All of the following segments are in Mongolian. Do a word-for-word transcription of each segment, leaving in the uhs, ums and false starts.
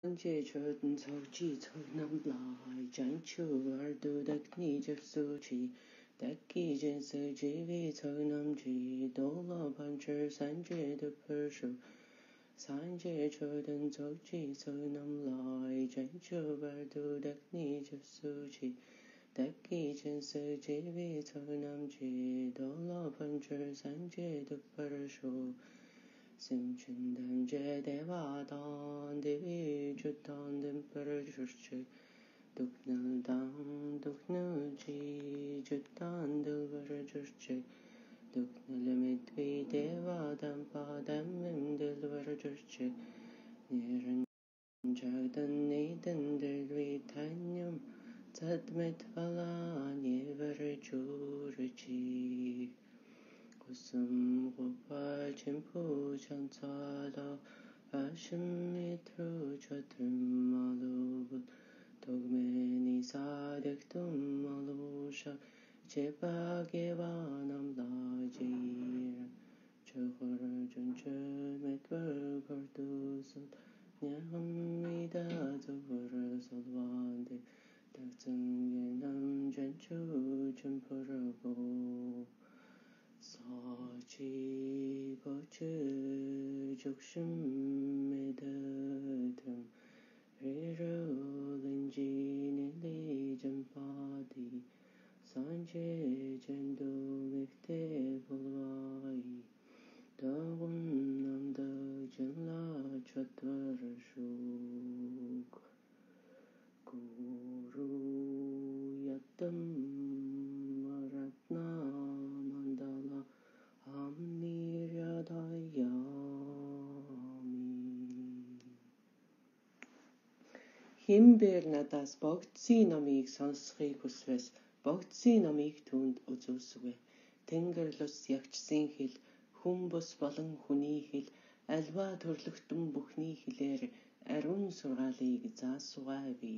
Sanjay Chodan Sochi Sonam Lai Janchu Ardu Dakni Jasuchi Daki Jensa Jivi Sonam Ji Dola Pancher Sanjay the Pershu Sanjay Chodan Sochi Sonam Lai Janchu Ardu Dakni Jasuchi Daki Jensa Jivi Sonam Ji Dola Pancher Sanjay the Pershu Simchindan Jedevadan Devi Jutan Dimper Church Duknal Dan Duknal Ji Jutan Dilver Church Duknal Mitvi Devadan Padam Dilver Church Niran Jagdan Nadan Dilvitanyam Zadmet Vala Never Churchi Kusum Gopa Chimpu Chansada Ashim Mitru Chatum Malub Togmeni Sadektum Malusha Chepa Gevanam Lajir Chokor Junchur Metver Pardusut Nyamida Zavur Salvande Taktsum Yenam Janchu Chimpurago Sachi Bochu Jokshim Medatum Riro Linji Nili Jampadi Sanjay Jendo Mikte Bulwai Dawun Namda Janla Chatvar Shuk Guru Yatam Химбэр надаас богдсын номыг сонсхийг хүсвэл богдсын номыг түүнд үзүүлсэвэ. Тэнгэр лус ягчсын хэл, хүн бус болон хүний хэл, альва төрлөختөн бүхний хэлээр ариун сургаалыг заасугай.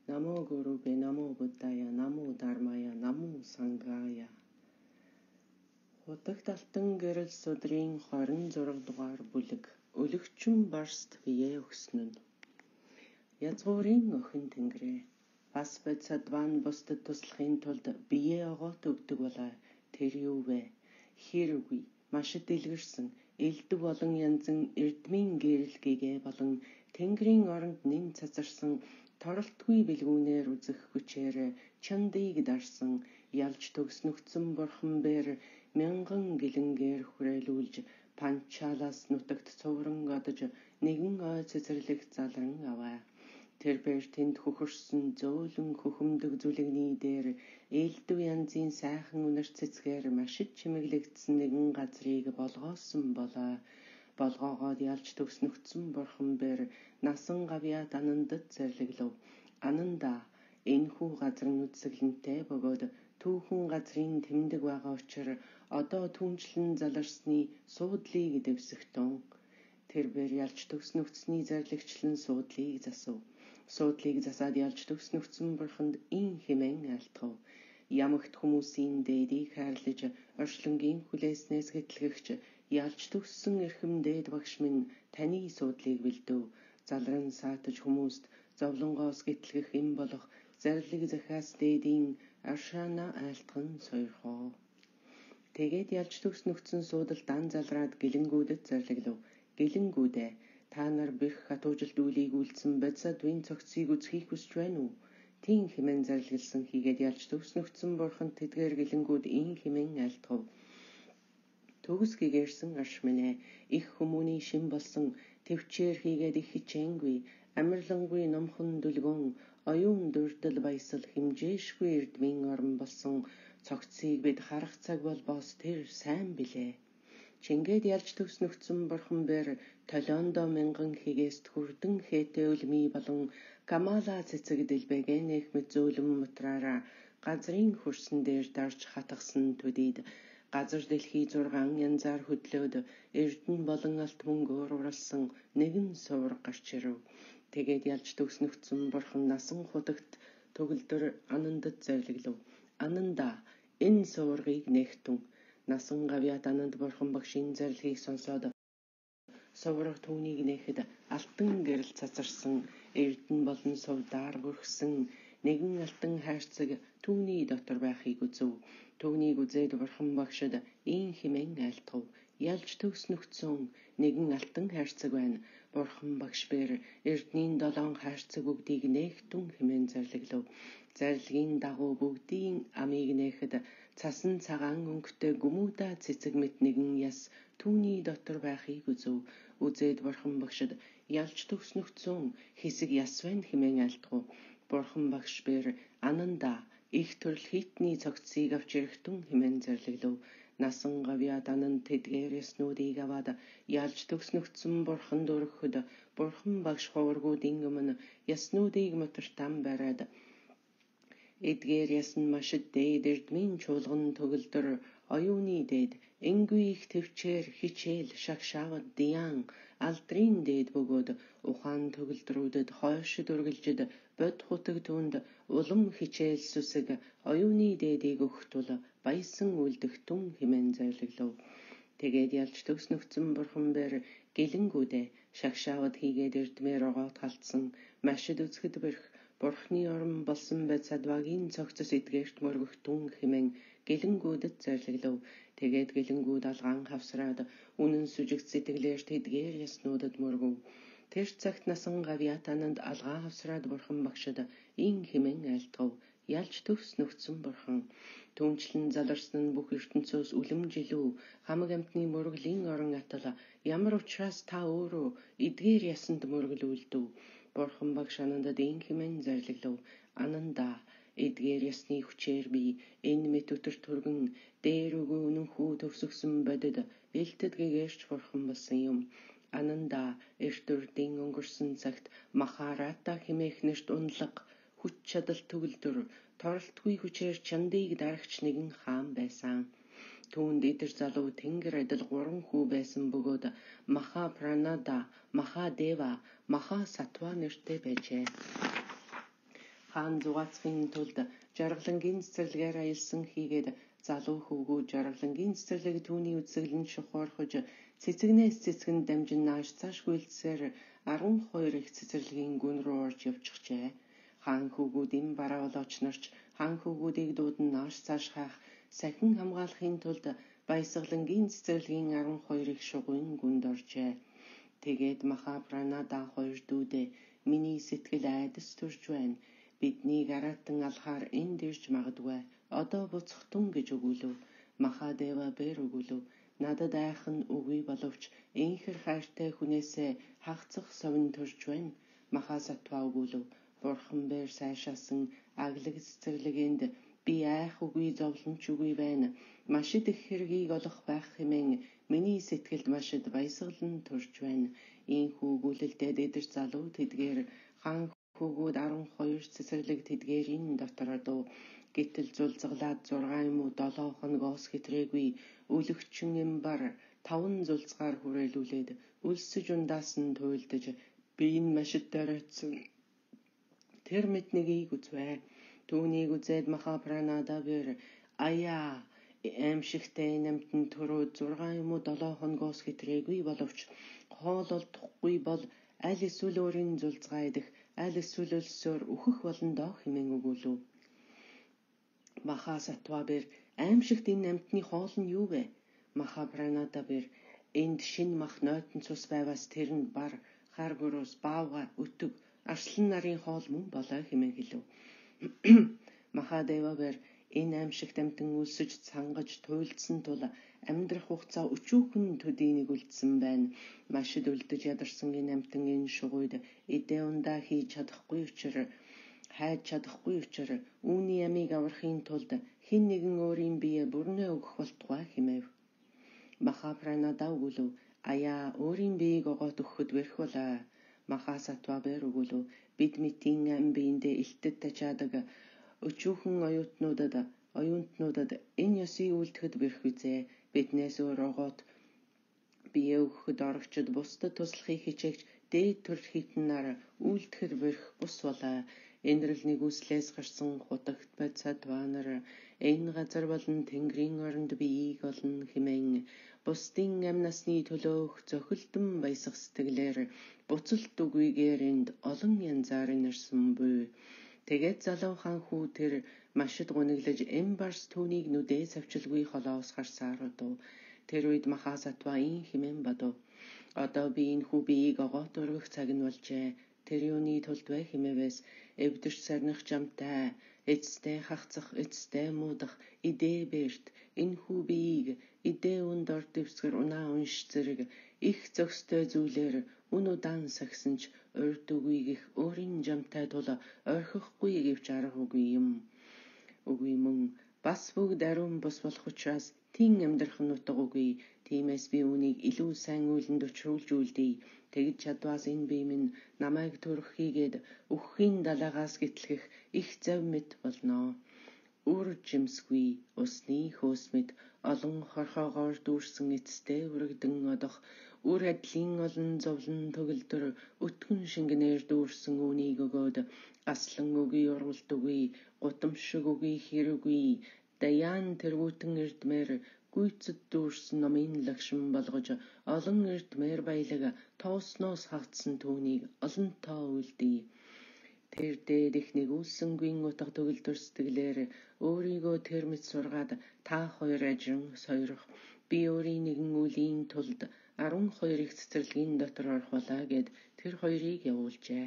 Намо Гурубе, Намо Буддая, Намо Дармая, Намо Сангая. Хутагт алтан гэрэл судрын хорин зураг дугаар бүлэг. Өлөгчөн барст бие өгснөн. Язгуурын охин тэнгэрээ. Бас бод садван бусдад туслахын тулд бие огоот өгдөг болоо. Тэр юу вэ? Хэрвгүй, машид дэлгэрсэн, элдв болон янзан эрдмийн гэрэлгээгээ болон тэнгэрийн оронд нэн цацарсан торолтгүй бэлгүүнээр үзэх хүчээр чандыг дарсан ялж төгснөгцөн бурхан бэр мянган гэлэнгээр хүрээлүүлж панчалаас нутагт цувран одож нэгэн ой цэцэрлэх залран аваа. Тэр бэр тэнд хөхөрсөн зөөлөн хөхөмдөг зүлэгний дээр элдв янзын сайхан үнэр цэцгээр машид чимэглэгдсэн нэгэн газрыг болгоосон болоо. Болгоогоод ялж төгснөгцөн бурхан бэр насан гавьяат анандад зэрлэглэв. Ананда энэхүү газар нь үсгэлэнтэй бөгөөд түүхэн газрын тэмдэг байгаа учраас одоо түнчлэн заларсны суудлыг дэвсэгтэн. Тэр бэр ялж төгснөгцний зарлигчлан суудлыг засав. Суудлыг засаад ялж төгснөгцөн бурханд ин хэмээн айлтгав. Ямагт хүмүүсийн дээдийг хайрлаж оршлонгийн хүлээснээс гэтлэгч ялж төгссөн эрхэм дээд багш минь таны суудлыг бэлдэв. Залран саатаж хүмүүст зовлонгоос гэтлэх им болох зарлиг захиас дээдийн аршаана айлтган сойрхоо. Тэгээд ялж төгснөгцөн суудал дан залраад гэлэнгүүдэд зарлиглав. Гэлэнгүүдээ та нар бэрх хатуужилт үлийг үлдсэн бодсадвын цогцыг үзхийг хүсч байна уу? Тийм хэмээн зарлигласан хийгээд ялж төгснөгцөн бурхан тэдгээр гэлэнгүүд ин хэмээн айлтгав. Төгс гэгэрсэн арш минь их хүмүүний шин болсон төвчээр хийгээд их хичээнгүй амарлангүй номхон дүлгөн оюун дүрдэл баясал хэмжээшгүй эрдмийн орон болсон цогцыг бид харах цаг болбоос тэр сайн билээ. Чингээд ялж төгснөгцөн бурхан бэр толиондоо мянган хигээс хүрдэн хээтэй үлмий болон камала цэцэг дэлбэгэнэх мэт зөөлөн мутраараа газрын хөрсөн дээр дарж хатгсан төдийд газар дэлхий зургаан янзаар хөдлөөд эрдэн болон алт мөнгөөр уралсан нэгэн сувар гарч ирв. Тэгээд ялж төгснөгцөн бурхан насан хутагт төгөлдөр анандад зарлиглав. Ананда энэ суваргыг нэгтэн насан гавьяат ананд бурхан багшийн зарлигийг сонсоод суврах түүнийг нэхэд алт цацарсан эрдэн болон сувдаар бүрхсэн нэгэн алтан хайрцаг түүний дотор байхыг үзв. Түүнийг үзээд бурхан багшид ийн хэмээн айлтгав. Ялж төгс нөхцөн нэгэн алтан хайрцаг байна. Бурхан багш бээр эрдний долоон хайрцаг бүгдийг нээхтэн хэмээн зарлаглав. Зарлагын дагуу бүгдийн амийг нээхэд цасан цагаан өнгөтэй гүмүдэ цэцэг мэт нэгэн яс түүний дотор байхыг үзв. Үзээд бурхан багшид ялж төгс нөхцөн хэсэг яс байна хэмээн айлтгав. Бурхан багш бээр ананда их төрөл хитний цогцсыг авч ирэхтэн хэмээн зарлаглав. Насан гавьяд ананд тэдгээр яснуудыг аваад ялж төгс нөхцөн бурхан дөрөхөд бурхан багш хуваргуудын өмнө яснуудыг мотортан бариад эдгээр ясн машид дээд эрдмийн чуулган төгөлдөр оюуны дээд энгүй их төвчээр хичээл шагшаавад диян алдрын дээд бөгөөд ухаан төгөлдрүүдэд хойшид үргэлжид бод хутаг түнд улам хичээл сүсэг оюуны дээдийг өгөх тул баясан үлдэгтэн хэмээн зарлаглав. Тэгээд ялж төгс нөхцөн бурхан бээр гэлэнгүүдэ шагшаавад хийгээд эрдмээр огоот халтсан машид үзэхэд бэрх Бурхны орон болсон Бетсадвагийн цогцос эдгээрт мөргөхтэн хэмээн гэлэнгүүдэд зарлаглав. Тэгээд гэлэнгүүд алгаан хавсраад үнэн сүжигт сэтгэлээр тэдгээр яснуудад мөргөв. Тэр цагт насан гавьяат ананд алгаан хавсраад бурхан багшид ийн хэмээн айлтгав. Ялж төгс нөхцөн бурхан түнчлэн заларсан нь бүх ертөнцөөс үлэмжилүү хамаг амтны мөргөлийн орон атал ямар учраас та өөрөө эдгээр ясанд мөргөлүүлдэв. Бурхан багш анандад ийн хэмээн зарлаглав. Ананда эдгээр ясны хүчээр би энэ мэт өтөр түргэн дээр өгөө үнэнхүү төгсгсөн бодид элтэд гэгэрч бурхан болсон юм. Ананда эртүрдийн өнгөрсөн цагт Махарата хэмээх нэрт унлаг хүч чадал төгөлдөр торолтгүй хүчээр чандыг дарагч нэгэн хаан байсан. Түүнд идэр залуу тэнгэр адил гурван хүү байсан бөгөөд Маха Пранада, Маха Дева, Маха Сатва нэртэй байжээ. Хаан зугаацахын тулд жаргалангийн цэцэрлэгээр аялсан хийгээд залуу хөвгүү жаргалангийн цэцэрлэг түүний үзэсгэлэн шухуурхаж цэцэгнээс цэцгэнд дамжин нааш цааш гүйлцсээр арван хоёр их цэцэрлэгийн гүн рүү орж явчихжээ. Хаан хөвгүүдийн бараа болооч нарч хаан хөвгүүдийг дуудан нааш цааш хаах сахин хамгаалахын тулд баясгалангийн цэцэрлэгийн арван хоёр их шугуйн гүнд оржээ. Тэгээд Маха Пранада хоёр дүүдээ миний сэтгэл айдас төрж байна. Биднийг аратан алхаар энд ирж магадгүй. Одоо буцахтун гэж өгүүлв. Маха Дева бээр өгүүлв. Надад айхан үгүй боловч инхэр хайртай хүнээсээ хагцах совин төрж байна. Маха Сатва өгүүлв. Бурхан бээр сайшаасан аглаг цэцэрлэгэнд би айх үгүй зовлонч үгүй байна. Машид их хэргийг олох байх хэмээн миний сэтгэлд машид баясгалан төрж байна. Ийхүү өгүүлэлтэд эдэр залуу тэдгээр хаан хөвгүүд арван хоёр цэцэрлэг тэдгээрийн дотор одов. Гэтэл зулцгалаад зургаан юм уу долоо хоногоос хэтрээгүй өлөгчөн эмбар таван зулцгаар хүрээлүүлээд өлсөж ундаас нь туйлдаж би энэ машид дараацсан. Тэр мэднэгийг үзвэ. Түүнийг үзээд Маха Пранада бэр аяа аимшигтай намтэн төрөө зургаан юм уу долоо хоногоос хэтрээгүй боловч хоол олдохгүй бол аль эсвэл өөрийн зулцгаа идэх аль эсвэл өлсөөр үхэх болон доо хэмээн өгүүлв. Маха Сатва бэр аимшигт энэ намтны хоол нь юу вэ? Маха Пранада бэр энд шин мах нойтон цус байвас тэр нь бар харгуурус баавга өтөг арслан нарын хоол мөн болоо хэмээн хэлв. Маха Дева бэр энэ аимшигт амтан өлсөж цангаж туйлдсан тул амьдрах хугацаа өчүүхэн төдийнийг үлдсэн байна. Машид үлдэж ядарсан энэ амтан энэ шугуйд эдээ ундаа хийж чадахгүй учраа хайж чадахгүй учраа үүний амийг аврахын тулд хэн нэгэн өөрийн бие бүрнээ өгөх болтугай хэмэв. Маха Пранада өгүүлв. Аяа өөрийн биеийг огоот өгөхөд бэрх болоо. Маха Сатва бэр өгүүлв. Бид мэтийн ам биендээ илтэд тачаадаг өчүүхэн оюутнуудад оюутнуудад энэ ёсыг үлдэхэд бэрх үзээ. Биднээс өөр огоот бие өгөхөд орогчд бусдад туслахыг хичээгч дээд төрөл хитнээр үлдэхэд бэрх бус болоо. Энэрл нэгүслээс гарсан хутагт Бетсадва нар энэ газар болон тэнгэрийн оронд биеийг олно хэмээн бусдын амь насны төлөөх зохилдон баясах сэтгэлээр буцалт үгүйгээр энд олон янзаар нэрсэн буй. Тэгээд залуу хаан хүү тэр машид гуниглаж эм барс түүнийг нүдээ савчилгүй холоос харсаар удав. Тэр үед Махасатва ин химэн бадав. Одоо би энэ хүү биеийг огоот өргөх цаг нь болжээ. Тэр юуны тулд вэ химээвээс эвдэрч сарних жамтай, эцтэй хахцах, эцтэй муудах, идээ бэрт, энэ хүү биеийг идээ үнд орд дэвсгэр унаа унш зэрэг их зөкстэй зүйлэр үн удаан сагсан ч урд үгүй гих өөрийн жамтай тула орхихгүй гэвч арга үгүй юм. Үгүй мөн бас бүгд ариун бус болох учраас тин амьдрах нь утга үгүй. Тиймээс би үүнийг илүү сайн үйлэнд учруулж үлдээ. Тэгж чадваас энэ бие минь намайг төрөх хийгээд өгөхийн далаагаас гэтлэх их зав мэт болно. Үр жимсгүй усны хөөс мэт олон хорхоогоор дүүрсэн эцтэй үрэгдэн одох үр адлын олон зовлон төгөлдөр өтгөн шингэнээр дүүрсэн үүнийг өгөөд аслан үгүй ургалт үгүй гутамшиг үгүй хэрүгүй даяан тэргүүтэн эрдмээр гүйцэд дүүрсэн номын лагшин болгож олон эрдмээр баялаг тоосноос хагдсан түүнийг олонтоо үлдээ. Тэр дээд их нэгүүлсэнгүй утга төгөлдөр сэтгэлээр өөрийгөө тэр мэт сургаад та хоёр ажин сойрох би өөрийн нэгэн үлийн тулд арван хоёр их цэцэрлэгийн дотор орхуулаа гэд тэр хоёрыг явуулжээ.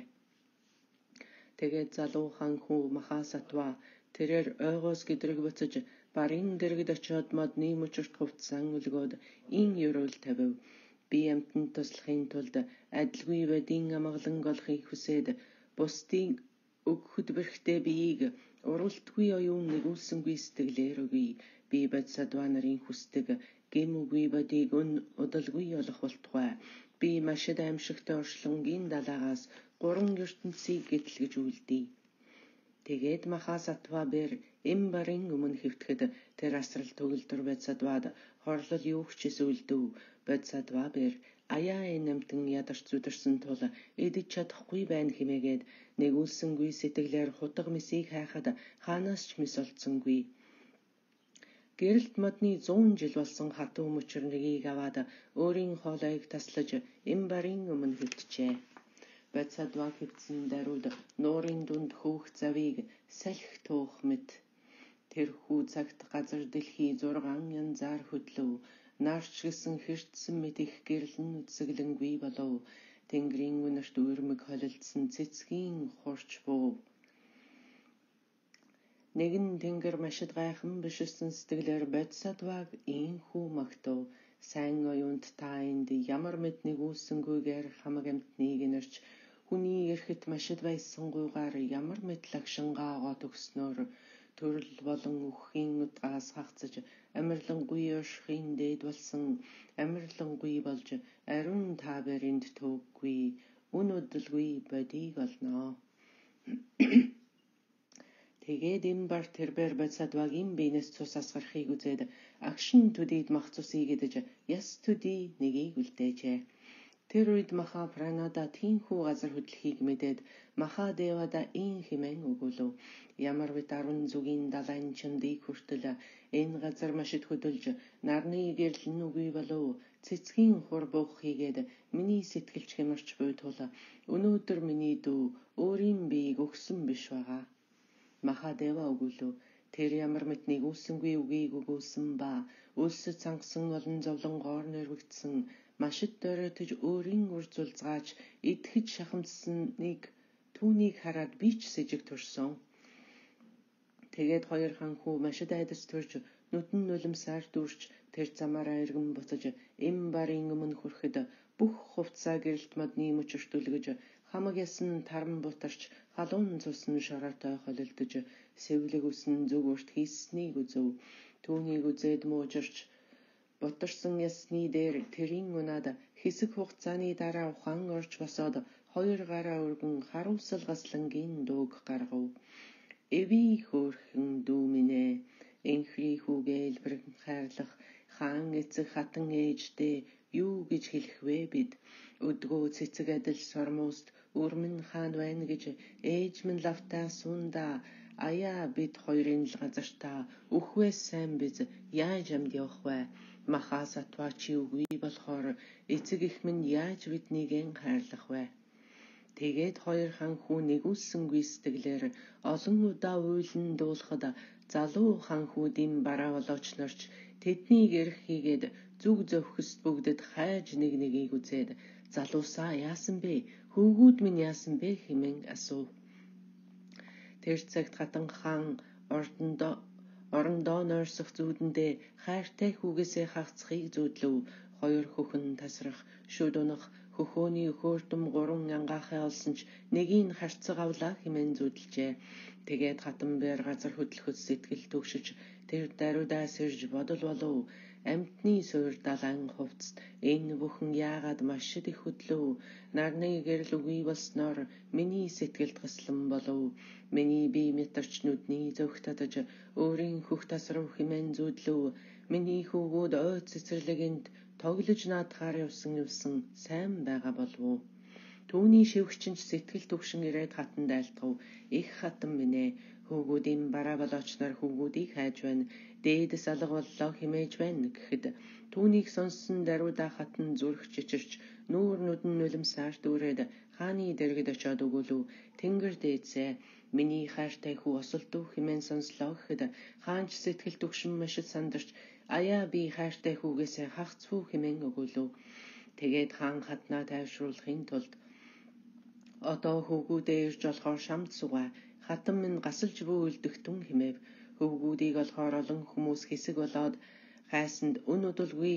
Тэгээд залуу хаан хүү Махасатва тэрээр ойгоос гэдрэг буцаж барын дэрэгд очиод модны мөчөрт хувцсан өлгөөд ин ерөөл тавив. Би амтанд туслахын тулд адилгүй бодийн амгалан олохыг хүсээд бусдын өгөхөд бэрхтээ биеийг уралтгүй оюун нэгүүлсэнгүй сэтгэлээр өгье. Би Бодисатва нарын хүсдэг гэм үгүй бодийг өн удалгүй олох болтугай. Би машид аимшигтай оршлонгийн далаагаас гурван ертөнцийг гэтлгэж үлдээ. Тэгээд Махасатва бэр эм барын өмнө хэвтгэхэд тэр асрал төгөлдөр Бодисатвад хорлол юу ч сүлдэв. Бодисатва бэр аяа энэ амтан ядарч зүдэрсэн тул идэж чадахгүй байна хэмээгээд нэгүүлсэнгүй сэтгэлээр хутга мисийг хайхад хаанаас ч мис олдсонгүй. Гэрэлт модны зуун жил болсон хатуу мөчөр нэгийг аваад өөрийн хоолойг таслаж эм барын өмнө хэвтжээ. Бодисатва хэвтсэн даруйд нуурын дунд хөөх завыг салхи туох мэт. Тэр хүү цагт газар дэлхий зургаан янзаар хөдлөв. Нарч гисэн хэртсэн мэт их гэрлэн үсгэлэнгүй болов. Тэнгэрийн үнэрт үрмэг холилдсан цэцгийн хурч буув. Нэгэн тэнгэр машид гайхан бишсэн сэтгэлээр Бодисатваг ин хүү магтав. Сайн оюунд та энд ямар мэд нэгүүлсэнгүйгээр хамаг амтныг инэрч хүний эрхэт машид байсангүйгаар ямар мэд лагшингаа огоо төгснөөр төрөл болон үхэхийн утгаас хагцаж амирлангүй оршихын дээд болсон амирлангүй болж ариун та баринд төвгүй үн удалгүй бодийг олноо. Тэгээд эм бар тэрбэр Бодисатвагийн биенээс цус асгарахыг үзээд агшин төдийд мах цусыг идэж яс төдий нэгийг үлдээжээ. Тэр үед Махапранада тийхүү газар хөдлөхийг мэдээд Махадевада ин химэн өгүүлв. Ямар бит арван зүгийн далайн чандыг хүртэл энэ газар машид хөдөлж нарны гэрлэн үгүй болов. Цэцгийн хур буух хийгээд миний сэтгэлч хямарч буй тул өнөөдөр миний дүү өөрийн биеийг өгсөн биш байгаа. Махадева өгүүлв. Тэр ямар мэт нэгүүлсэнгүй үгийг өгүүлсэн ба үлсэд сангасан олон зовлонгоор нэрвэгдсэн машид дөрөтөж өөрийн үр зулцгаач идэхэд шахамдсаныг түүнийг хараад би ч сэжиг төрсөн. Тэгээд хоёр хаан хүү машид айдас төрж нүдэн нулимсаар дүүрч тэр замаараа эргэн буцаж эм барын өмнө хүрэхэд бүх хувцаа гэрэлт модны мөчөрт үлгэж хамаг ясан таран бутарч халуун цусан шороотой холилдож сэвлэг үсэн зүгүрт хийснийг үзв. Түүнийг үзээд муужирч бутарсан ясны дээр тэрийн унаад хэсэг хугацааны дараа ухаан орж босоод хоёр гараа өргөн харуулсал гаслангийн дууг гаргав. Эви хөөрхөн дүү минь ээ, энхри хүүгээ элбэрэн хайрлах хаан эцэг хатан ээждээ юу гэж хэлэх вэ бид? Өдгөө цэцэг адил сормост өрмөн хаан байна гэж ээж минь лавтаа сунда аяа бид хоёрын л газартаа үхвээс сайн биз яаж амд явах вэ? Махаа сатваа чи үгүй болохоор эцэг их минь яаж биднийг хайрлах вэ? Тэгээд хоёр хан хүү нэгүүлсэнгүй сэтгэлээр олон удаа уйлан дуулахад залуу хан хүүдийн бараа болооч нарч тэднийг эрх хийгээд зүг зөвхөст бүгдэд хайж нэг нэгийг үзээд залуусаа яасан бэ? Хөвгүүд минь яасан бэ хэмээн асуув. Тэр цагт хатан хаан ордондоо орондоо нойрсох зүүдэндээ хайртай хүүгээсээ хагцхыг зүүдлөв. Хоёр хөхөн тасрах, шүд унах, хөхөөний хөөртөм гурван ангаахай олсон ч нэгийг харцаг авлаа хэмээн зүүдэлжээ. Тэгээд хатан бээр газар хөдлөхөд сэтгэл төгшөж тэр даруйдаа сэрж бодол болов. Амьтны суур далайн хувцст энэ бүхэн яагаад маш их хөдлөв? Нарны гэрэл үгүй болсноор миний сэтгэлд гислан болов. Миний бие мэтэрч нүдний зөвх татаж өөрийн хөх тасрав хэмээн зүүдлөв. Миний хүүгүүд ой цэцэрлэгэнд тоглож наадахаар явсан явсан сайн байгаа болов уу? Түүний шивгчэнч сэтгэл төгшин ирээд хатанд айлтгав. Их хатан минь ээ, хүүгүүдийн бараа болооч нар хүүгүүдийг хайж байна. Дээдэс алга боллоо хэмээж байна гэхэд түүнийг сонссон даруйдаа хатан зүрх чичирч нүүр нүдэн нулимсаар дүүрээд хааны дэргэд очиод өгүүлв. Тэнгэр дээдсээ миний хайртай хүү осолдов хэмээн сонслоо гэхэд хаанч сэтгэл төгшин машид сандарч аяа би хайртай хүүгээсээ хагцвүү хэмээн өгүүлв. Тэгээд хаан хатнаа тайвшруулахын тулд одоо хөвгүүдээ ирж болохоор шамд сугаа, хатан минь гасалж бүү үлдэгтэн хэмэв. Хөвгүүдийг олохоор олон хүмүүс хэсэг болоод хайсанд үн удалгүй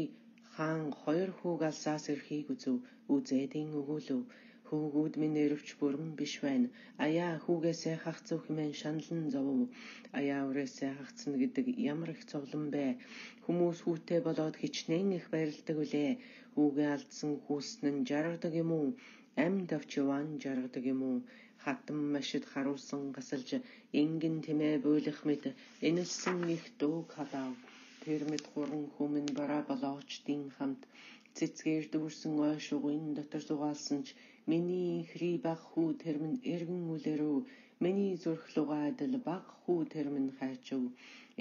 хаан хоёр хүүг алсаас эрхийг үзв. Үзээдийн өгүүлв. Хөвгүүд минь өрөвч бүрэн биш байна. Аяа хүүгээсээ хагцв хэмээн шаналн зовв. Аяа үрээсээ хагцна гэдэг ямар их зовлон бэ? Хүмүүс хүүтэй болоод хичнээн их баярлдаг үлээ. Хүүгээ алдсан хүүснэн жаргадаг юм уу? Амьд авч яваан жаргадаг юм уу? Хатан машид харуулсан гасалж ингэн тэмээ буйлах мэд энэлсэн их дууг хадав. Тэр мэд гурван хүмүн бараа болоочдын хамт цэцгээр дүүрсэн ой шугын дотор зугаалсан ч миний инхри баг хүү тэр минь эргэн үлэрв. Миний зүрх лугаа адил баг хүү тэр минь хайчв.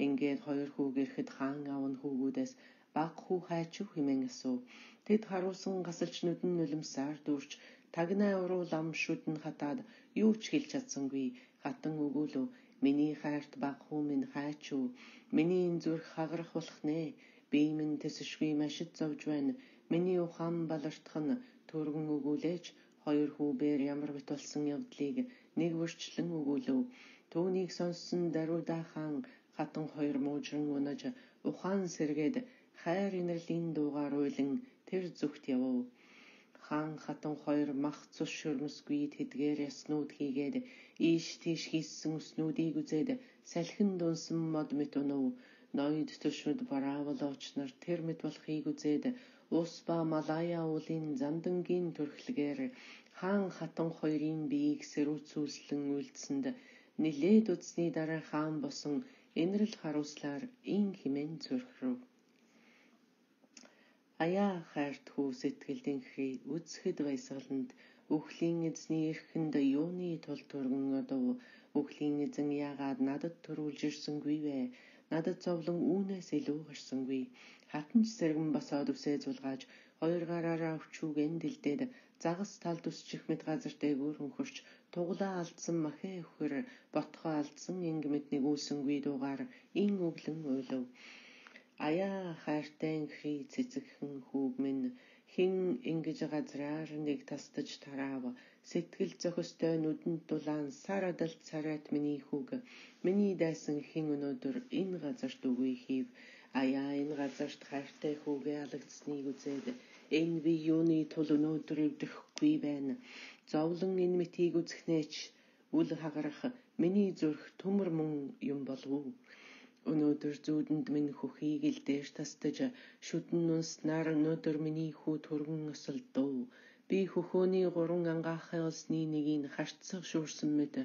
Ингээд хоёр хүүг ирэхэд хаан аав нь хүүгүүдээс баг хүү хайчв хэмээн асуув. Тэд харуулсан гасалж нүдэн нулимсаар дүүрч тагнаа уруу лам шүдэн хатаад юу ч хэлж чадсангүй. Хатан өгүүлв. Миний хайрт баг хүү минь хайчв. Миний зүрх хагарах болох нэ. Бие минь тэсшгүй машид зовж байна. Миний ухаан балартах нь түргэн өгүүлээч. Хоёр хүүбээр ямар бит болсон явдлыг нэг бүрчлэн өгүүлв. Түүнийг сонссон даруйдаа хаан хатан хоёр муужран унаж ухаан сэргээд хайр инэрлийн дуугаар уйлан тэр зүгт явв. Хаан хатан хоёр мах цус шүрмэсгүй тэдгээр яснууд хийгээд ийш тийш хийссэн өснүүдийг үзээд салхин дунсан мод мэт унав. Ноёд төшмөд бараа болооч нар тэр мэт болохыг үзээд ус ба малая уулын замдангийн төрхлөгээр хаан хатан хоёрын биеийг сэрүүцүүлсэн үйлдэсэнд нилээд үзсний дараа хаан босон инрэл харуулслаар ин хэмээн зүрхрв. Аяа хайрт хүү сэтгэлдэнхри үзэхэд баясгаланд үхлийн эзний эрхэнд юуны тул түргэн одов. Үхлийн эзэн яагаад надад төрүүлж ирсэнгүй вэ? Надад зовлон үүнээс илүү гарсангүй. Хатан ч сэргэн босоод үсээ зулгааж хоёр гараараа өвчүүгэн дэлдээд загас талд үсчих мэт газар дээгүүр өнхөрч туглаа алдсан махээ өхөр ботхоо алдсан инг мэт нэгүүлсэнгүй дуугаар ин өглөн уйлав. Аяа хайртай инхри цэцэгхэн хүүг минь хин ингэж газраар нэг тастаж тараав. Сэтгэл зохистой нүдэнд дулаан сар адалт царайт миний хүүг миний дайсан хин өнөөдөр энэ газарт үгүй хийв. Аяа энэ газарт хайртай хүүгээ алагдсныг үзээд энэ би юуны тул өнөөдөр өвдөхгүй байна. Зовлон энэ мэтийг үзэхнээч үл хагарах миний зүрх төмөр мөн юм болов уу? Өнөөдөр зүүдэнд минь хөхийг илдээж тастаж шүдэн нунснаар өнөөдөр миний хүү түргэн осолдов. Би хөхөөний гурван ангаахай олсны нэгийг харцаг шуурсан мэт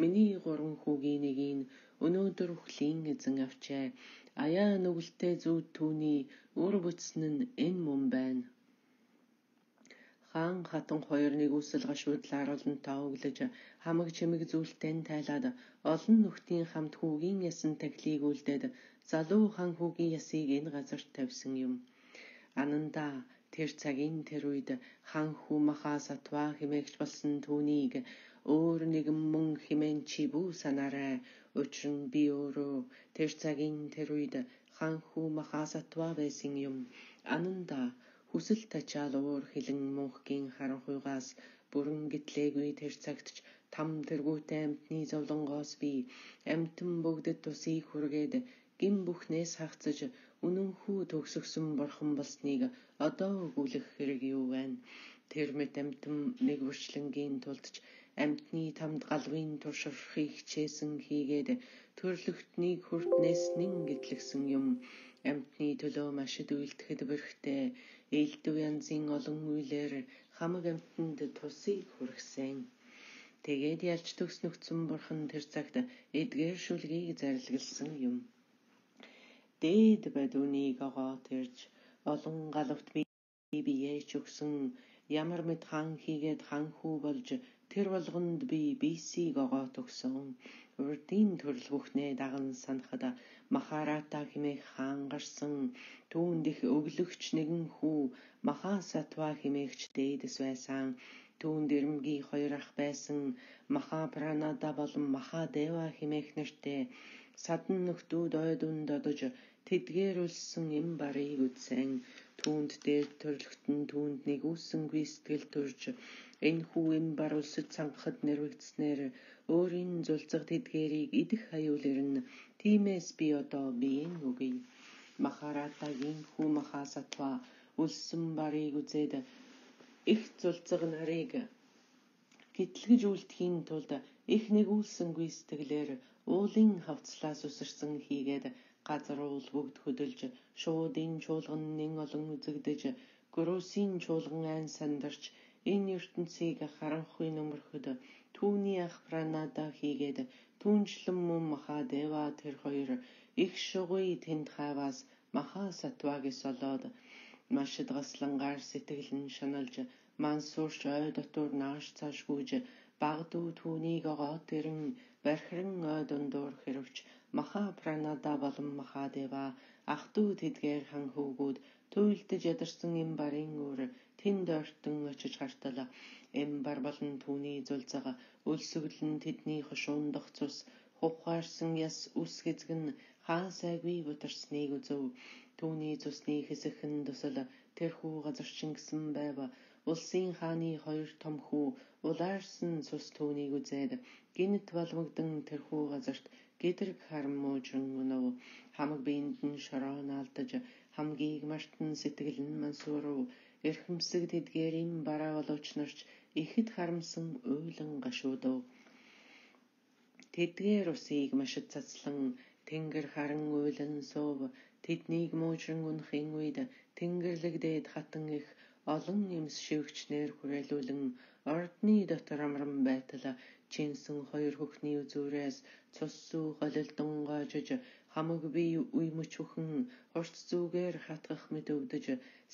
миний гурван хүүгийн нэгийг өнөөдөр үхлийн эзэн авчээ. Аяа нүгэлтэй зүүд түүний үр бүтсэн нь энэ мөн байна. Хаан хатан хоёр нэгүсэл гашуудлаар олонтоо өглөж хамаг чимэг зүйлтэн тайлаад олон нөхдийн хамт хүүгийн ясан таглыг үлдээд залуу хан хүүгийн ясыг энэ газарт тавьсан юм. Анандаа тэр цагийн тэр үед хан хүү Маха Сатва хэмээгч болсон түүнийг өөр нэгэн мөн хэмээн чи бүү санаарай. Учир нь би өөрөө тэр цагийн тэр үед хан хүү Маха Сатва байсан юм. Анандаа хүсэл тачаал уур хилэн мөнхгийн харанхуйгаас бүрэн гэтлээгүй тэр цагт ч там тэргүүтэй амтны зовлонгоос би амтан бүгдэд тусыг хүргээд гин бүхнээс хагцаж үнэн хүү төгсгсөн бурхан болсныг одоо өгүүлэх хэрэг юу байна? Тэр мэт амтан нэг бүрчлэнгийн тулд ч амтны тамд галвын турширхыг хичээсэн хийгээд төрлөختнийг хүртнээс нэн гэтлэгсэн юм. Амтны төлөө машид үйлдэхэд бэрхтээ элдв янзын олон үйлээр хамаг амтанд тусыг хүргэсэн. Тэгээд ялж төгснөгцөн бурхан тэр цагт эдгээр шүлгийг зарилгалсан юм. Дээд бадуунийг огоо тэрж олон галавт би биеэж өгсөн ямар мэд хан хийгээд хан хүү болж тэр болгонд би бисийг огоо төгсөн. Урдын төрөл бүхнээ даган санахад Махарата хэмээх хаан гарсан. Түүнд их өглөгч нэгэн хүү Маха Сатва хэмээгч дээдэс байсан. Түүнд ирэмгий хоёр ах байсан. Маха Пранада болон Маха Дева хэмээх нэртэй. Садан нөхдүүд ойдунд одож тэдгээр үлсэн эм барыг үдсэн. Түүнд дээр төрлөختөн түүнд нэгүүлсэнгүй сэтгэл төрж энэ хүү эм бар үлсэд цангахад нэрвэгдснээр өөрийн зулцаг тэдгээрийг идэх аюулэрнэ. Тиймээс би одоо биеийн үгүй. Махаратагийн хүү Маха Сатва үлсэн барыг үзээд их зулцаг нарыг гэтлэгж үлдэхийн тулд их нэгүүлсэнгүй сэтгэлээр уулын хавцлаас үсэрсэн хийгээд газар уул бүгд хөдөлж шуудын чуулган нэн олон үзэгдэж гөрөөсийн чуулган айн сандарч энэ ертөнцийг харанхуй нөмөрхөд түүний ах Пранада хийгээд түүнчлэн мөн Маха Дева тэр хоёр их шугуй тэнд хайваас Маха Сатвагis олоод машид гаслангаар сэтгэлэн шаналж мансуурч ой дотор нааш цааш гүйж багдуу түүнийг огоо тэрэн бархиран ой дундуур хэрвч Маха Пранада болон Маха Дева ах дүү тэдгээр хан хөвгүүд туйлдж ядарсан эм барын өөр тэнд ойртон очиж хартал эм бар болон түүний зулцага өлсгөлн тэдний хошуундох цус хувхаарсан яс үс хэзгэн хаан сайгүй бутарсныг үзв. Түүний цусны хэсэгхэн тусал тэрхүү газарчин гисэн байв. Улсын хааны хоёр том хүү улаарсан цус түүнийг үзээд гинт балмагдан тэрхүү газарт гэдрэг харам муужран өнөв. Хамаг биенд нь шороо наалдаж хамгийг мартан сэтгэл нь мансуурв. Эрхэмсэг тэдгээрийн бараа боловч нарч ихэд харамсан уйлан гашуудав. Тэдгээр усыг машид цацлан тэнгэр харан уйлан суув. Тэднийг муужран унахын үед тэнгэрлэгдээд хатан их олон нэмс шивгчнэр хүрээлүүлэн ордны дотор амран байтал чинсэн хоёр хөхний үзүүрээс цус сүү голилдон гоожиж хамаг бие үе мөч бүхэн хурц зүгээр хатгах мэт өвдөж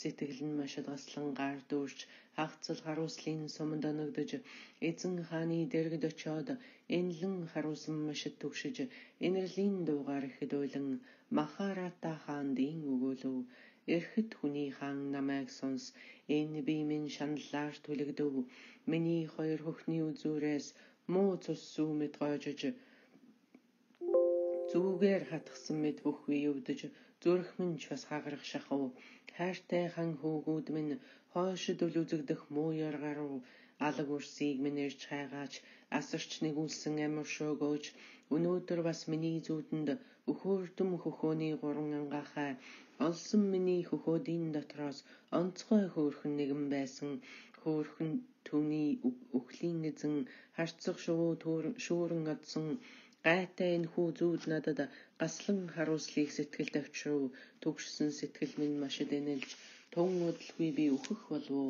сэтгэл нь машид гаслан гар дүүрч хагцал харуулслын сумд оногдож эзэн хааны дэргэд очоод энлэн харуулсан машид төгшиж инэрлийн дуугаар ихэд уйлан Махарата хаандын өгөөлөв. Эрхэд хүний хаан намайг сонс энэ би минь шаналлаар түлэгдэв. Миний хоёр хөхний үзүүрээс муу цус сүү мэт гоожиж зүгээр хатгсан мэт бүх бие өвдөж зүрх минь ч бас хагарах шахав. Хайртай хан хөвгүүд минь хойшид үл үзэгдэх муу яргарав. Алаг үрсийг минь ирж хайгаач асарч нэгүүлсэн амар шөөгөөж өнөөдөр бас миний зүүдэнд өхөөрдөм хөхөөний гурван ангаахай олсон миний хөхөөдийн дотроос онцгой хөөрхөн нэгэн байсан. Хөөрхөн түүний өхлийн эзэн харцах шувуу шүүрэн одсон гайтай энэ хүү зүүд надад гаслан харуулслыг сэтгэл тавьчрав. Төгшсөн сэтгэл минь машид энэлж тун удалгүй би өөхөх болов.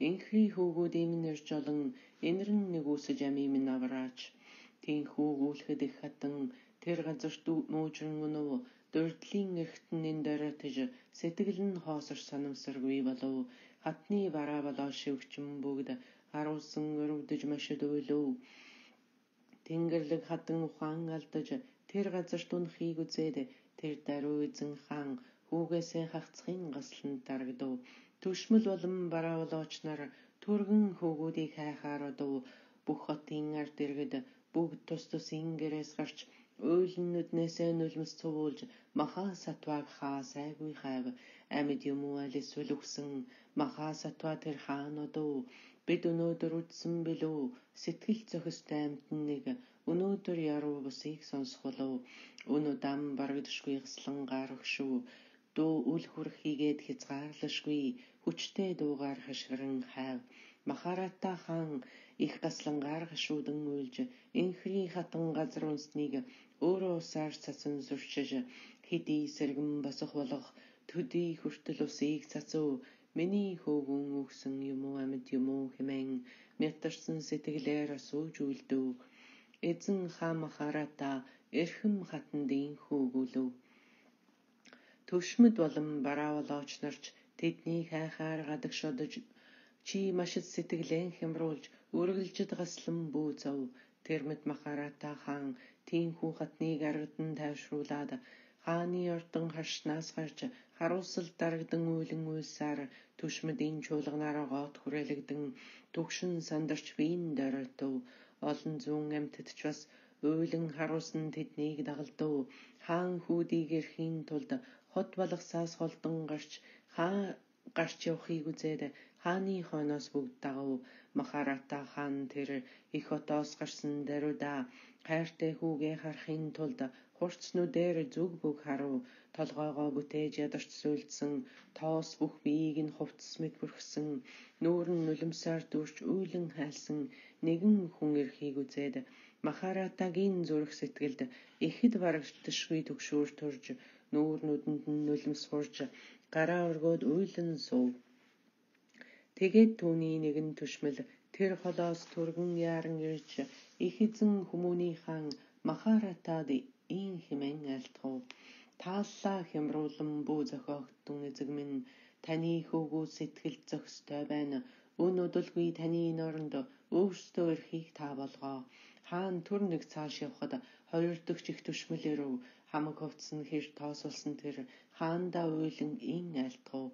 Инхри хөвгүүд минь ирж олон энэрн нэгүсэж ами минь авраач. Тинхүү гүйлхэд их хатан тэр газарт муужран өнөв. Дурдлын эрхтэн энэ дөрөтж сэтгэл нь хоосор санамсаргүй болов. Хатны бараа болоо шивгчэн бүгд харуулсан өрөвдөж машид уйлав. Тэнгэрлэг хатан ухаан алдаж тэр газарт унахыг үзээд Тэр даруй эзэн хаан хүүгээсээ хагцхын гаслан дарагдав. Түшмэл болон бараалооч нар түргэн хүүгүүдийг хайхаар одов. Бүх хотын ард иргэд бүгд тус тусын гэрээс гарч уйлын нүднээсээ нулимс цувуулж маха сатваг хаа сайгүй хайв. Амьд юм уу алис үлгсэн маха сатва тэр хаан одов. Бид өнөөдөр үдсэн билүү сэтгэл зохистой амтан нэг өнөөдөр яруу бусыг сонсох болов. Өнөө дам барагдшгүй гслан гарахшгүй дуу үл хүрх хийгээд хязгаарлашгүй хүчтэй дуугаар хашгиран хайв. Махарата хаан их гаслан гаргашуудан уйлж инхри хатан газар унсныг өөрөө усаар цацан зурчиж хэдий сэргэн босох болох төдий хүртэл усыг цацав. Миний хөөгөн өгсөн юм уу амьд юм уу хэмээн мятарсан сэтгэлээр асууж үлдэв. Эзэн хаан Махарата эрхэм хатандын хөөгүүлв. Түшмэд болон бараалооч нарч тэдний хайхаар гадагш одож чи машид сэтгэлэн хямруулж үргэлжид гаслан бүүцав. Тэрмэд Махарата хаан тийхүү хатныг аргадан тайвшруулад хааны ордон харшнаас гарч харуусал дарагдан уйлан уйлсаар түшмэдийн чуулганаар гоот хүрээлэгдэн түгшин сандарч биен доройтов. Олон зүүн амьтад ч бас уйлан харуулсан тэднийг дагалдав. Хаан хүүдийг эрхийн тулд хот балгасаас холдон гарч хаа гарч явахыг үзээд хааны хойноос бүгд дагав. Махарата хаан тэр их хотоос гарсан даруйда хайртай хүүгээ харахын тулд хурцнүүдээр зүг бүг харав. Толгоогоо бүтээж ядарч суйлдсан тоос бүх биеийг нь хувцас мэт бүрхсэн нүүр нь нулимсаар дүүрч уйлан хайлсан нэгэн хүн эрхийг үзээд Махаратагийн зүрх сэтгэлд ихэд барагдшгүй төгшүүр төрж нүүр нүдэнд нь нулимс хурж гараа өргөөд уйлан суув. Тэгээд түүний нэгэн түшмэл тэр холоос түргэн яаран ирж их эзэн хүмүүний хаан Махаратад ийн хэмээн айлтгав. Тааллаа хямруулан бүү зохиогдсон эзэг минь таны хөөгөө сэтгэл зохистой байна. Өн удалгүй таны норонд өөрсдөө эрхийг та болгоо. Хаан түр нэг цааш явхад хоёр дахь их түшмэл ирв. Хамаг хувцс нь хэр тоосолсон тэр хаандаа уйлан ийн айлтгав.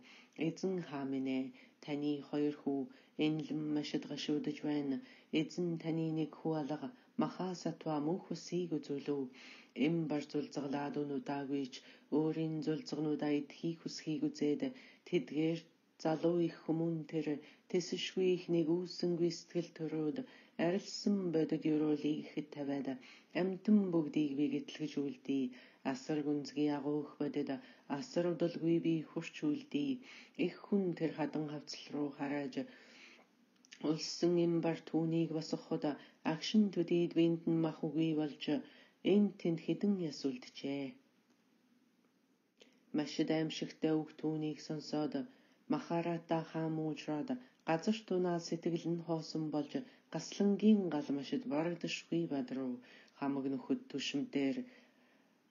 Эзэн хаан минь ээ, таны хоёр хүү энлэн машид гашуудаж байна. Эзэн таны нэг хүү алга маха сатва мөнх усыг үзүүлв. Эм бар зулзгалаад өнүүдаагүйч өөрийн зулзгнуудаа идхийг хүсхийг үзээд тэдгээр залуу их хүмүүн тэр тэсшгүй их нэгүүлсэнгүй сэтгэл төрөөд арилсан бодит юруулыг ихэд тавиад амтан бүгдийг би гэтлгэж үлдээ. Асар гүнзгий агуух бодит асар удалгүй би хурч үлдээ. Их хүн тэр хадан хавцал руу харааж улсан эм бар түүнийг босгоход агшин төдийд биэнд нь мах үгүй болж энд тэнд хідэн яс үлджээ. Машид аимшигтай үг түүнийг сонсоод Махарата хаан муужраад газар тунаа сэтгэл нь хоосон болж гаслангийн гал машид барагдашгүй бадрав. Хамаг нөхөд түшмдээр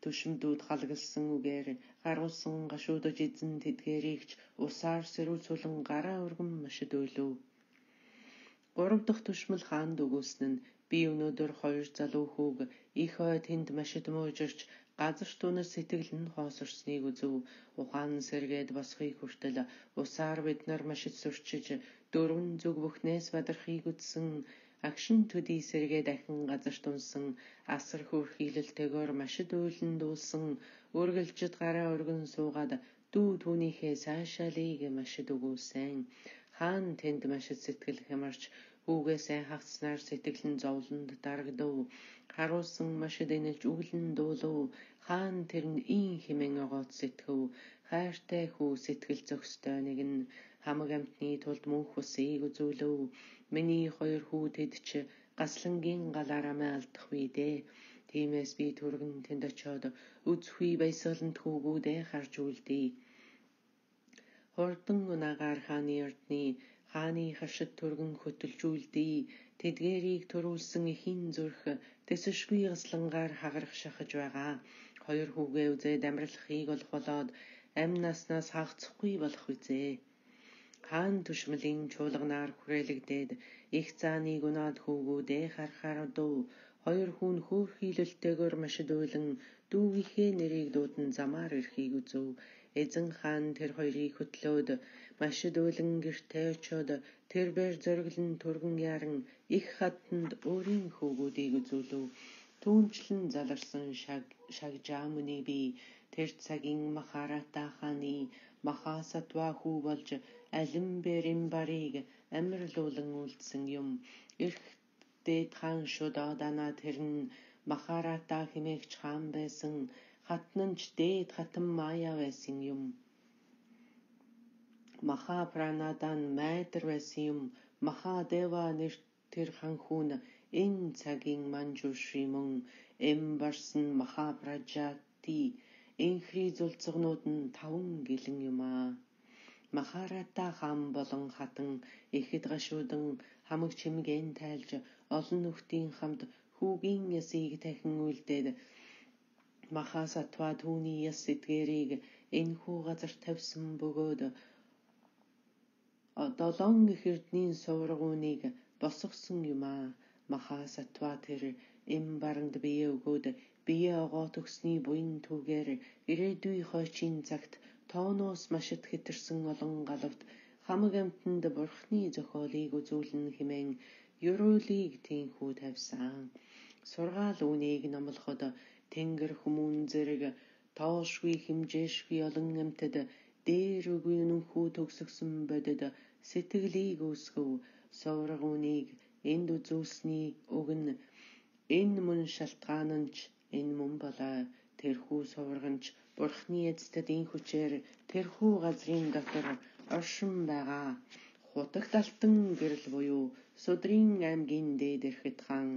түшмдүүд халгалсан үгээр гаруулсан гашуудаж эзэн тэдгээрийгч усаар сэрүүлцүүлэн гараа өргөн машид уйлв. Гурав дахь түшмэл хаанд өгүүлсэн нь би өнөөдөр хоёр залуу хүүг их ой тэнд машид муужирч газар тунаа сэтгэл нь хоосорсныг үзв. Ухаан сэргээд босхийг хүртэл усаар бид нар машид сурчиж дөрвөн зүг бүхнээс бадрахыг үзсэн. Агшин төдий сэргээ дахин газар тунсан асар хөөрхийлэлтэйгээр машид уйлан дуулсан үргэлжид гараа өргөн суугаад дүү түүнийхээ сайшаалыг машид өгүүлсэн. Хаан тэнд машид сэтгэл хямарч хүүгээсээ хагцснаар сэтгэл нь зовлонд дарагдав. Харуулсан машид энэлж үглэн дуулав. Хаан тэр нь ийн хэмээн огоот сэтгэв. Хайртай хүү сэтгэл зохистой нэгэн хамаг амтны тулд мөнх усыг үзүүлв. Миний хоёр хүү тэд ч гаслангийн галаараа алдах вэ дээ. Тиймээс би түргэн тэнд очиод үзхүй баясгалант хүүгүүдээ харж үлдээ. Хурдан унагаар хааны ордны хааны хашид түргэн хөтөлж үлдээ. Тэдгээрийг төрүүлсэн эхийн зүрх тэсшгүй гаслангаар хагарах шахаж байгаа. Хоёр хүүгээ үзээд амралахыг олох болоод амь наснаас хагацхгүй болох үзээ. Хаан түшмэлийн чуулганаар хүрээлэгдээд их зааныг унаад хүүгүүдээ харахаар одов. Хоёр хүн хөөрхийлөлтэйгээр машидуулан дүүгийнхээ нэрийг дуудан замаар ирэхийг үзв. Эзэн хаан тэр хоёрыг хөтлөөд машидуулан гэртээ очоод тэрбээр зориглон түргэн яран их хатанд өөрийн хөвгүүдийг үзүүлв. Түүнчлэн заларсан Шагжаамуны бие тэр цагийн Махарата хааны Махасатва хүү болж Алимбер Имбарыг амьрлуулан үлдсэн юм. Ирх дээд хаан Шудодана тэр нь Махарата хэмээгч хаан байсан. Хатнанч дээд хатан Мая байсан юм. Махапранадан майдар байсан юм. Махадева нэр тэр ханхүүн энэ цагийн Манжушри мөн эм барсан Махапраджати энхри зулцгнууд нь таван гэлэн юм аа. Махарата хаан болон хатан ихэд гашуудан хамаг чимгээн тайлж олон нөхдийн хамт хүүгийн ясыг дахин үлдээд Махасатва түүний яс эдгээрийг энэхүү газар тавьсан бөгөөд долоон их эрдний суврагууныг босгосон юм аа. Махасатва тэр эм баранд бие өгөөд бие огоо төгсний буян түүгээр ирээдүй хойчийн цагт тооноос машид хэтэрсэн олон галавт хамаг амтанд бурхны зохиолыг үзүүлэн хэмээн ёроолыг тийхүү тавьсан. Сургаал үүнийг номлоход тэнгэр хүмүүн зэрэг тоошгүй хэмжээшгүй олон амтад дээр үгүй нүхүү төгсгсөн бодод сэтгэлийг үүсгэв. Суврагууныг энд үзүүлсний уг нь энэ мөн шалтгаан нь ч энэ мөн болоо. Тэрхүү сувраганч бурхны эцэдийн хүчээр тэрхүү газрын дотор оршин байгаа. Хутагт алтан гэрэл буюу Судрын аймгийн дээд эрхэд хаан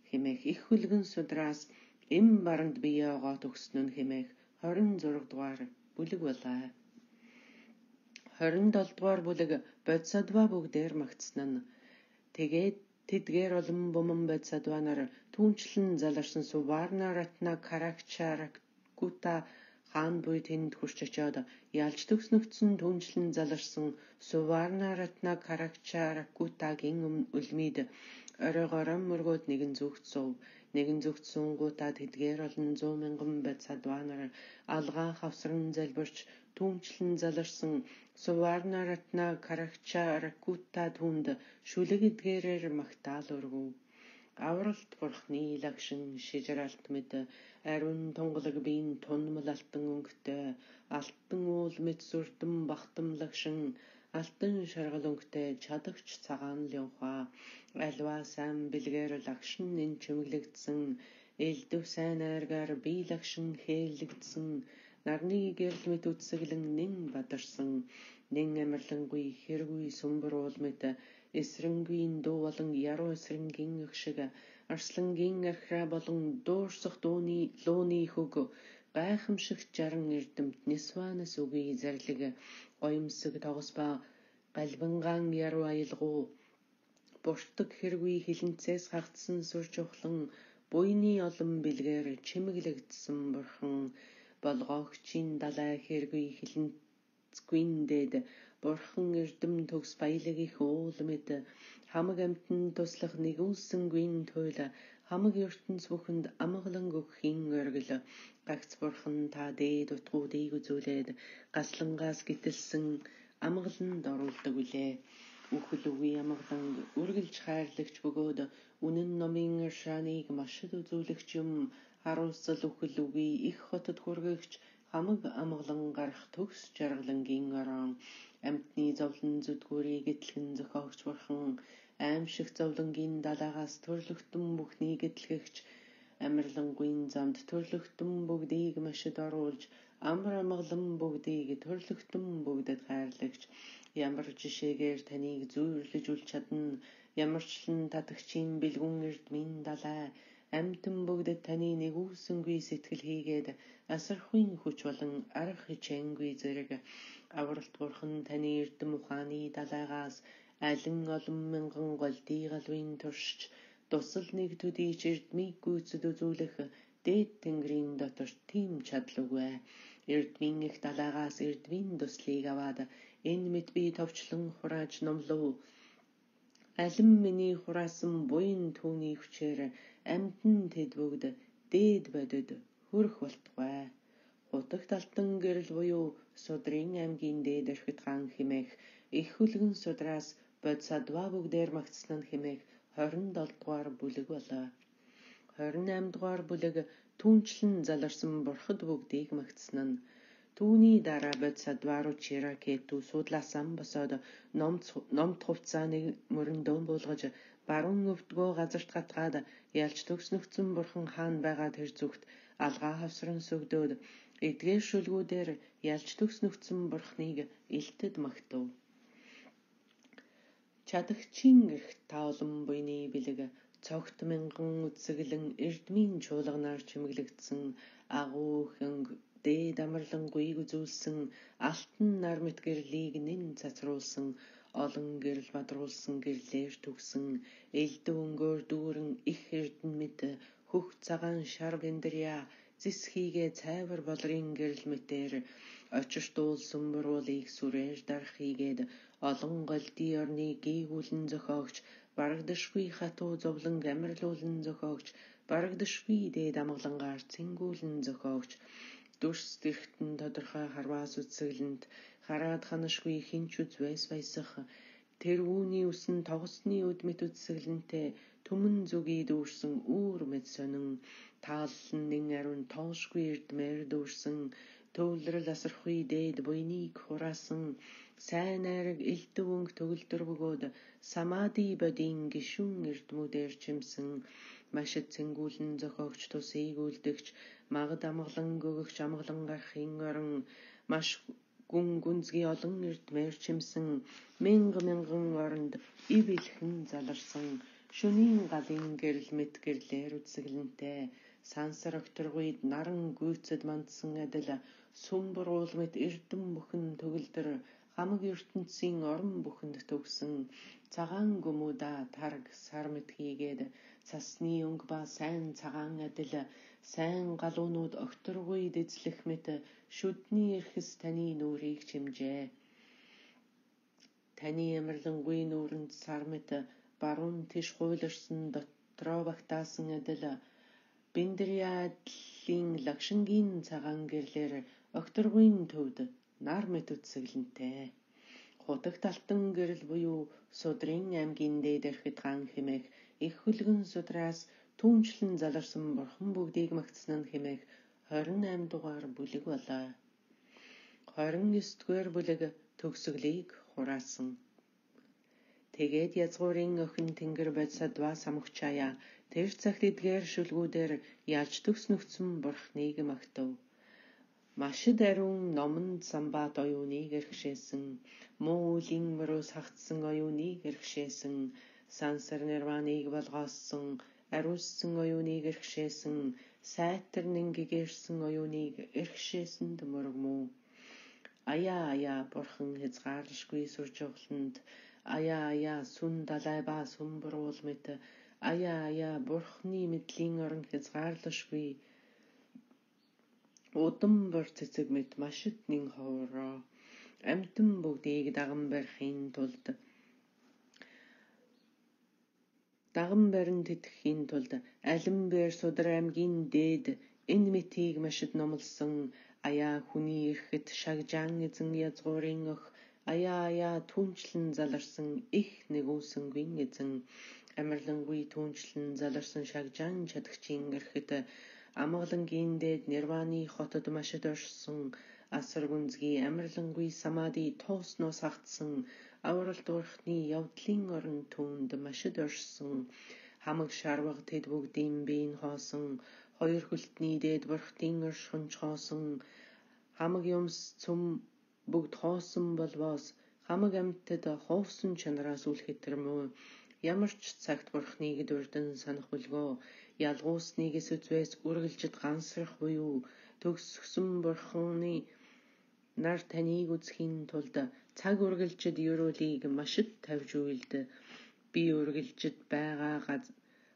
хэмээх их хөлгөн Судраас эм баранд бие огоо төгснө нь хэмээх хорин зураг дугаар бүлэг болоо. хорин долоо дугаар бүлэг Бодсадва бүгдээр магтсан нь. Тэгээд тэдгээр олон буман Бодсадва нар түүнчлэн заларсан Суварна Ратна Каракчаракута хаан буй тэнд хурч очоод ялж төгснөгдсөн түүнчлэн заларсан Суварна Ратна Каракчаракутагийн үлмид оройгоор мөргөөд нэгэн зүгт сув. Нэгэн зүгт суунгуудаа тэдгээр олон зуун мянган Бодсадва нар алгаа хавсран залбирч түүнчлэн заларсан Суварна Ратна Каракчаракута түүнд шүлэг эдгээрээр магтаал өргөв. Авралт бурхны лагшин шижралт мэд ариун тунгалаг биен тунмал алтан өнгөтэй алтан уул мэд сүрдэн бахтам лагшин алтан шаргал өнгөтэй чадагч цагаан лянхаа альва сайн бэлгээр лагшин энэ чимэглэгдсэн элдв сайн айргаар бие лагшин хээлэгдсэн нарны гэрэл мэд үтсэглэн нэн бадарсан нэн амарлангүй хэргүй сүмбэр уул мэд эсрэнгийн дуу болон яруу эсрэнгийн их шиг арслангийн архиа болон дуурсах дууны лууны хөг гайхамшиг жаран эрдэмт нисванас үгүй зарлиг гоёмсог тогос ба галбангаан яруу аялгуу буртаг хэргүй хилэнцээс хагдсан сүр жухлан буйны олон бэлгээр чимэглэгдсэн бурхан болгоогчийн далай хэргүй хилэнцгүйн дээд бурхан эрдэм төгс баялаг их уул мэд хамаг амтан туслах нэгүүлсэнгүй туйл хамаг ертөнц бүхэнд амгалан өгөхийн оргил гагц бурхан та дээд утгуудыг үзүүлээд гаслангаас гитэлсэн амгаланд оруулдаг үлээ. Үхэл үгүй амгалан үргэлж хайрлагч бөгөөд үнэн номын иршааныг машид үзүүлэгч юм харуулсал үхэл үгүй их хотод хүргэгч хамаг амгалан гарах төгс жаргалангийн орон амтны зовлон зүдгүүрийг этлгэн зохиогч бурхан аимшиг зовлонгийн далаагаас төрлөختөн бүхнийг этлгэгч амарлангүйн замд төрлөختөн бүгдийг машид оруулж амар амгалан бүгдийг төрлөختөн бүгдэд хайрлагч ямар жишээгээр таныг зүйрлэж үл чадна ямарчлан татагчийн бэлгүн эрдмийн далай амтэн бүгдэд таны нэгүүлсэнгүй сэтгэл хийгээд асархуйн хүч болон арга хичээнгүй зэрэг авралт бурхан таны эрдэм ухааны далайгаас алин олон мянган голдий галвын туршиж тусал нэг төдийч эрдмийг гүйцэд үзүүлэх дээд тэнгэрийн дотор тийм чадлугүй эрдмийн их далайгаас эрдмийн туслыг аваад энэ мэд би товчлон хурааж номлов Алин миний хураасан буян түүний хүчээр амьтан тэд бүгд дээд бодод хүрэх болтугай. Хутагт алтан гэрэл буюу Судрын аймгийн дээд орхит хаан хэмээх их хүлгэн Судраас Бодсадва бүгдээр магтсан нь хэмээх хорин долоо дугаар бүлэг болоо. хорин eight дугаар бүлэг түүнчлэн заларсан бурхад бүгдийг магтсан нь. Түүний дараа Бодсадва руу Чиракету судлаасан босоод номт хувцааныг мөрөндөө буулгаж баруун өвдгөө газарт гатгаад ялч төгснөгцөн бурхан хаан байгаа тэр зүгт алгаа хавсран сүгдөөд эдгээр шүлгүүдээр ялч төгснөгцөн бурхныг илтэд магтав. Чадагчийн эрх таолон буйны бэлэг цогт мянган үтсэглэн эрдмийн чуулганаар чимэглэгдсэн агуу хөнг дээд амарлангуйг үзүүлсэн алтан нар мэт гэрлийг нэн цацруулсан олон гэрэл бадруулсан гэрлээр төгсөн элдв өнгөөр дүүрэн их эрдэн мэт хөх цагаан шар биндрия зис хийгээ цайвар болрын гэрэл мэтээр очирт уул сүмбруулыг сүрээр дарах хийгээд олон голдий орны гийгүүлэн зохиогч барагдашгүй хатуу зовлон амарлуулан зохиогч барагдашгүй дээд амгалангаар цэнгүүлэн зохиогч дүрс тэрхтэн тодорхой харваас үтсэглэнт хараад ханашгүй хинч үзвэс баясах тэр үүний үсэн тогсны өдмит үтсэглэнтэй түмэн зүгий дүүрсэн үүр мэд сонин тааллан нэн ариун тоошгүй эрдмээр дүүрсэн төвлөрөл асархгүй дээд буйныг хураасан сайн найраг элдв өнг төгөлдөр бөгөөд самади бодийн гишүүн эрдмүүдээр чимсэн машид цэнгүүлэн зохиогч тусыг үлдэгч магад амгалан гөгөгч амгалан гарахын орон маш гүн гүнзгий олон эрдмээр чимсэн мянга мянган оронд ив илхэн заларсан шөнийн галын гэрэл мэт гэрлээр үтсэглэнтэй сансар окторгуйд наран гүйцэд мандсан адил сумбар уул мэт эрдэм бүхэн төгөлдөр хамаг ертөнцийн орон бүхэнд төгсөн цагаан гүмүда тарг сар мэт хийгээд цасны өнг ба сайн цагаан адил сайн галуунууд окторгуйд эзлэх мэт шүдний эрхэс таны нүрийг чимжээ. Таны амарлангуй нүрэнд сар мэт баруун тиш хуйларсан дотроо багтаасан адил биндриядлын лагшингийн цагаан гэрлэр окторгуйн төвд нар мэт үтсэглэнтэй. Хутагт алтан гэрэл буюу Судрын аймгийн дээд орхит хаан хэмээх их хүлгэн Судраас түүнчлэн заларсан бурхан бүгдийг магтсан нь хэмээх хорин eight дугаар бүлэг болоо. хорин nine дугаар бүлэг төгсгөлийг хураасан. Тэгээд язгуурын охин тэнгэр Бодсадва самгчаяа тэр цагт эдгээр шүлгүүдээр ялж төгснөгцөн бурхныг магтав. Машид ариун номонд самбат оюуныг эрхшээсэн муу үлийн мөрөөс хагтсан оюуныг эрхшээсэн сансар нирваныг болгооссон ариуссан оюуныг эрхшээсэн сайтар нингигэрсэн оюуныг эрхшээсэнд мөргмүү. Аяа аяа бурхан хязгаарлашгүй суржуулалт аяа аяа сүн далай ба сүмбруул мэт аяа аяа бурхны мэдлийн орон хязгаарлашгүй удам бор цэцэг мэт машид нэн хоороо амтан бүгдийг даган барихын тулд даган барин тэтгэхийн тулд алин бээр Судар аймгийн дээд энэ мэтийг машид номлосон аяа хүний эрхэт шагжаан эзэн язгуурын өх аяа аяа түүнчлэн заларсан их нэгүүлсэнгүй эзэн амарлангуй түүнчлэн заларсан шагжаан чадагчийн эрхэт амгалангийн дээд нирваны хотод машид орсон асар гүнзгий амарлангуй самади тооснос хагтсан авралт бурхны явдлын орон түүнд машид орсон хамаг шарваг тэд бүгдийн биеийн хоосон хоёр хөлтний дээд бурхтын оршихонч хоосон хамаг юмс цөм бүгд хоосон болвоос хамаг амьтад хоосон чанараас үлхэтэрмөө ямар ч цагт бурхныг дурдан санах бүлгөө ялгуусныг эсвэс үргэлжид гансрах буюу төгсгсөн бурхны нар таныг үзхийн тулд цаг үргэлжид ерөөлийг машид тавьж үйлд би үргэлжид байгаа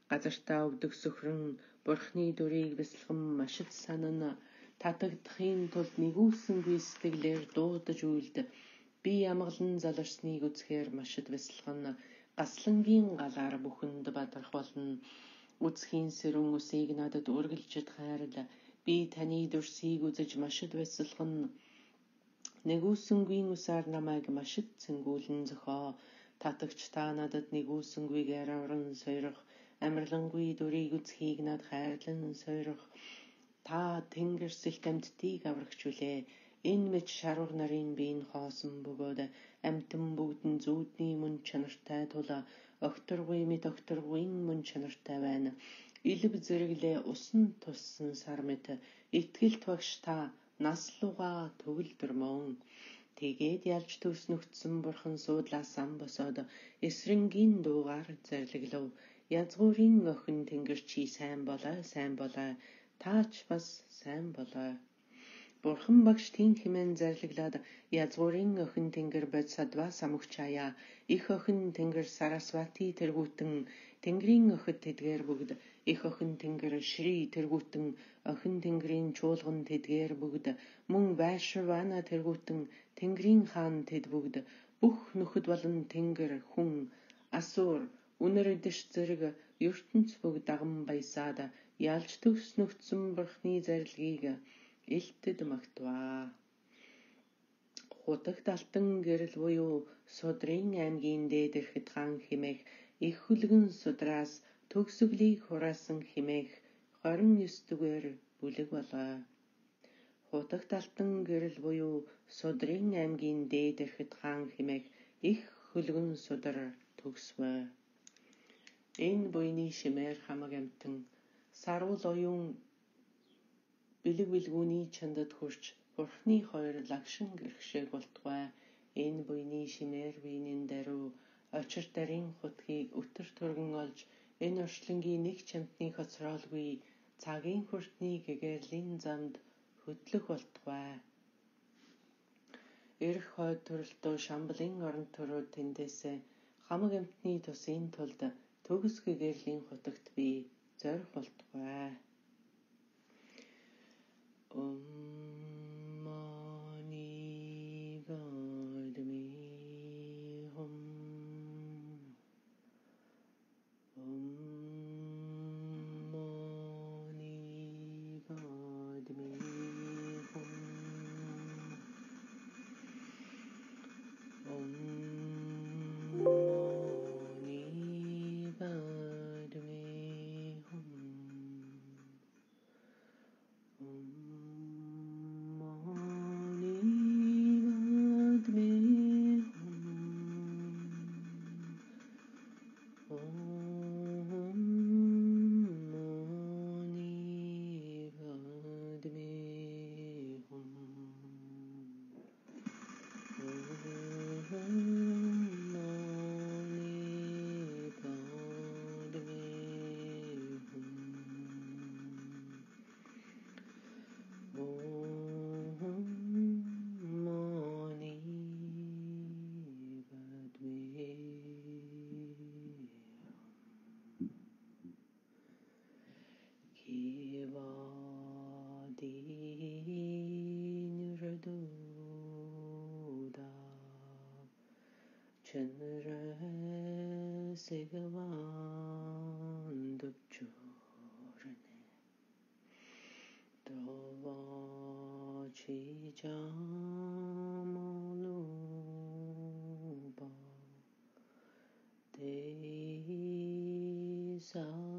газартаа өвдөг сөхрөн бурхны дүрийг бясалган машид санана татагдахын тулд нэгүүлсэнгүй сэтгэлээр дуудаж үйлд би амгалан заларсныг үзэхээр машид бясалган Гаслангийн галаар бүхэнд бадрах болно. Үзхийн сэрүүн үсийг надад үргэлжид хайрла. Би таны дүрсийг үзэж машид баясалгана. Нэгүсэнгүй усаар намайг машид цэнгүүлэн зохио. Татагч та надад нэгүсэнгүйгээр авран сойрох. Амарлангүй дүрийг үзхийг над хайрлан сойрох. Та тэнгэрсэлт амьтдыг аврагч үлээ. Энэ мэд шарвар нарын биеийн хоосон бөгөөд амьтан бүгд нь зүүдний мөн чанартай тула огторгүй мэд огторгүйн мөн чанартай байна. Илв зэрэглээ усан туссан сар мэт итгэлт багш та наслууга төгөлдөр мөн. Тэгээд ялж төвс нүгтсэн бурхан суудлаас ам босоод эсрэнгийн дуугаар зарлаглав. Язгуурын охин тэнгэр чи сайн болоо, сайн болоо. Таач бас сайн болоо. Бурхан багш тийм хэмээн зарлаглаад язгуурын охин тэнгэр бодсадва самогчаяа. Их охин тэнгэр Сарасвати тэргүүтэн тэнгэрийн охид тэдгээр бүгд. Их охин тэнгэр Шри тэргүүтэн охин тэнгэрийн чуулган тэдгээр бүгд. Мөн Вайшравана тэргүүтэн тэнгэрийн хаан тэд бүгд. Бүх нөхөд болон тэнгэр хүн асуур үнэр эдэш зэрэг ертөнц бүгд даган баясаад ялж төвс нүгтсэн бурхны зарилгийг илтэд магтваа. Хутагт алтан гэрэл буюу Судрын аймгийн дээдэрхэд хаан химэх их хүлгэн судраас төгсгөлийг хураасан химэх хорин ёс дүгээр бүлэг болоо. Хутагт алтан гэрэл буюу Судрын аймгийн дээдэрхэд хаан химэх их хүлгэн судар төгсвөө. Энэ буйны шимээр хамаг амтан сарвал оюун бэлэг бэлгүүний чандад хурч бурхны хоёр лагшин гэрхшээг болтугай. Энэ буйны шимээр биенэн даруй очир дарын хутгийг өтөр түргэн олж энэ орчлонгийн нэг чамтны хоцроолгүй цагийн хүртний гэгэрлийн замд хөдлөх болтугай. Эрх хойд төрөлтөө Шамбалын орон төрөө тэндээсээ хамаг амтны тусын тулд төгс гэгэрлийн хутагт би зорих болтугай. Om Mani Padme Hum. Om Mani Padme Hum. Om Mani Padme Hum. Om Chandra Segavan Dupchurane Dova Chijamaluba Te Sa